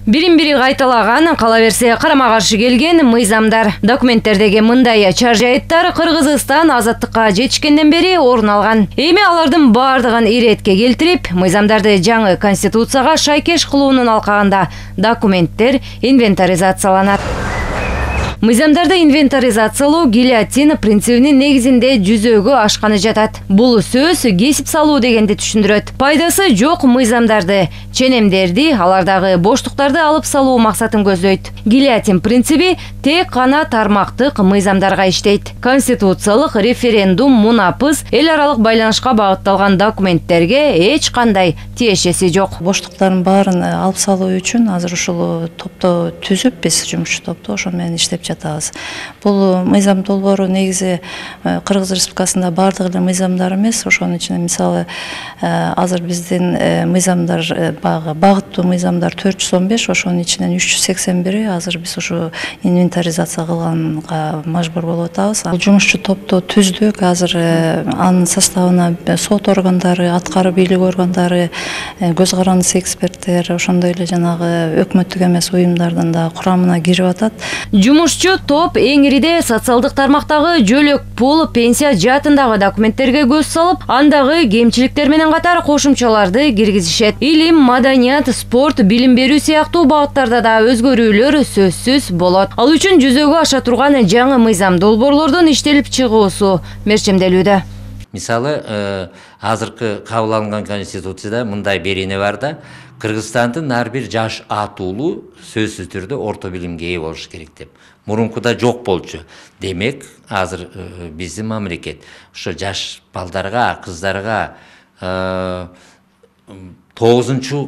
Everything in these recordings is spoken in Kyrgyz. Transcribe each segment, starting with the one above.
Бирин-бири кайталаган, кала берсе карама-каршы келген мыйзамдар. Документтердеги мындай чаржайыттар Кыргызстан азаттыкка жетишкенден бери орун алган. Эми алардын бардыгын иретке келтирип, мыйзамдарды жаңы конституцияга шайкеш кылуунун алкагында документтер инвентаризацияланат. Мыйзамдарды инвентаризациялоо гильотин принцибинин негизинде жүзөгө ашканы жатат. Бул сөз кесип салуу дегенди түшүндүрөт. Пайдасы жок мыйзамдарды, ченемдерди, алардагы боштуктарды алып салуу максатын көздөйт. Гильотин принциби тек гана тармактык мыйзамдарга иштейт. Конституциялык референдум, мунапыс, эл аралык байланышка багытталган документтерге эч кандай тиешеси жок. Боштуктардын баарын алып салуу үчүн азыр ушул топту түзүп, биз жумушчу топту ошо менен иштеп жатабыз. Бул мыйзам долбоору негизи Кыргыз Республикасында бардык эле мыйзамдар эмес, ошонун ичинде мисалы азыр биздин мыйзамдар багыттуу мыйзамдар 415, ошонун ичинен 381 азыр биз ушу инвентаризация кылганга мажбур болуп атабыз. Бул жумушчу топту түздүк, азыр анын составына сот органдары, аткаруу бийлик органдары, көз карандысы эксперттер, ошондой эле жанагы өкмөттүк эмес уюмдардын да курамына кирип атат. Жумушчу топ эңириде социалдык тармактагы жөлөк пул, пенсия жаатындагы документтерге көз салып, андагы кемчиликтер менен катар кошумчаларды киргизишет. Илим, маданият, спорт, билим берүү сыяктуу багыттарда да өзгөрүүлөр сөзсүз болот. Ал үчүн жүзөгө аша турган жаңы мыйзам долбоорлордун иштелип чыгуусу мерчемделүүдө. Мисалы, азыркы кабыл алынган конституцияда мындай берене бар да, Кыргызстандын ар бир жаш атуулу сөзсүз түрдө орто билимге ээ болуш керек деп. Мурункуда жок болчу. Демек, азыр биздин мамлекет ошо жаш балдарга, кыздарга 9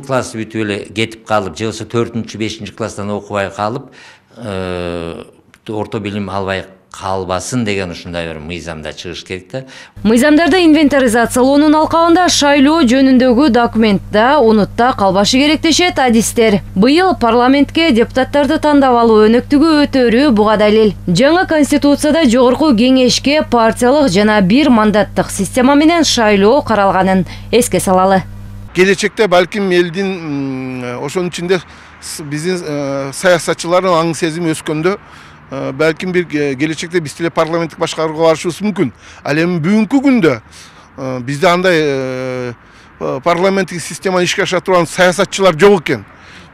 класс бүтүп эле кетип калып, же болбосо 4-5 класстан окубай калып, орто билим албай калбасын деген ушундай бир мыйзамда чыгыш керек да. Мыйзамдарды инвентаризациялоонун алкагында шайлоо жөнүндөгү документте унутта калбашы керек дешет адистер. Быйыл парламентке депутаттарды тандап алуу өнөктүгү өтөрү буга далил. Жаңы конституцияда жогорку кеңешке партиялык жана бир мандаттык система менен шайлоо каралганын эске салалы. Келечекте балким элдин ошонун ичинде биздин саясатчылардын аң сезими өскөндө балким бир келечекте биз деле парламенттик башкарууга барышыбыз мүмкүн. Ал эми бүгүнкү күндө бизде андай парламенттик системаны ишке аша турган саясатчылар жок экен.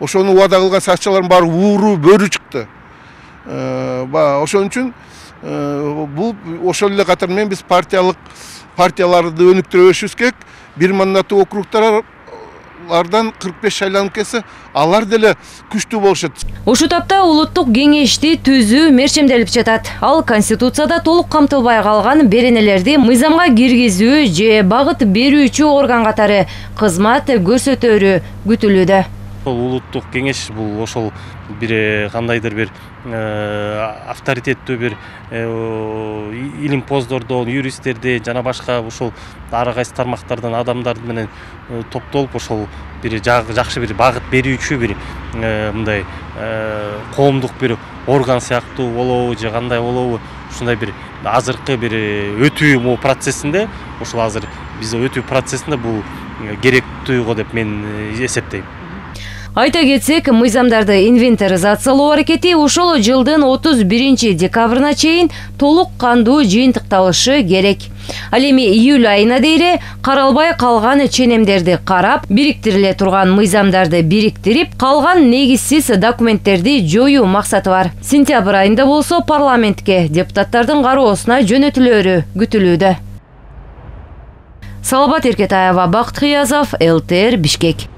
Ошону убада кылган саясатчылардын баары ууру бөрү чыкты. Ошон үчүн бул ошол эле катар менен биз партияларды өнүктүрүшүбүз керек. Бир мандаттуу округтардан 45 шайланып келсе, алар деле күчтүү болушат. Ушул тапта улуттук кеңешти түзүү мерчемделип жатат. Ал конституцияда толук камтылбай калган беренелерди мыйзамга киргизүү же багыт берүүчү орган катары кызмат көрсөтөрү күтүлүүдө. Улуттук кеңеш бул ошол бир кандайдыр бир авторитеттүү бир илимпоздордон, юристтерди жана башка ушул ар кайсы тармактардан адамдар менен топтолуп ошол бир жакшы бир багыт берүүчү бир мындай коомдук бир орган сыяктуу болобу же кандай болобу, ушундай бир азыркы бир өтүү процессинде, ошол азыр биз өтүү процессинде бул керектүү го деп мен эсептейм. Айта кетсек, мыйзамдарды инвентаризациялоо аракети ушул жылдын 31 декабрына чейин толук кандуу жыйынтыкталышы керек. Ал эми июль айына дейре каралбай калган ченемдерди карап, бириктириле турган мыйзамдарды бириктирип, калган негизсиз документтерди жоюу максаты бар. Сентябрь айында болсо парламентке депутаттардын кароосуна жөнөтүлөрү күтүлүүдө. Салабат Эркетаева, Бакыт Кыязов, ЛТР, Бишкек.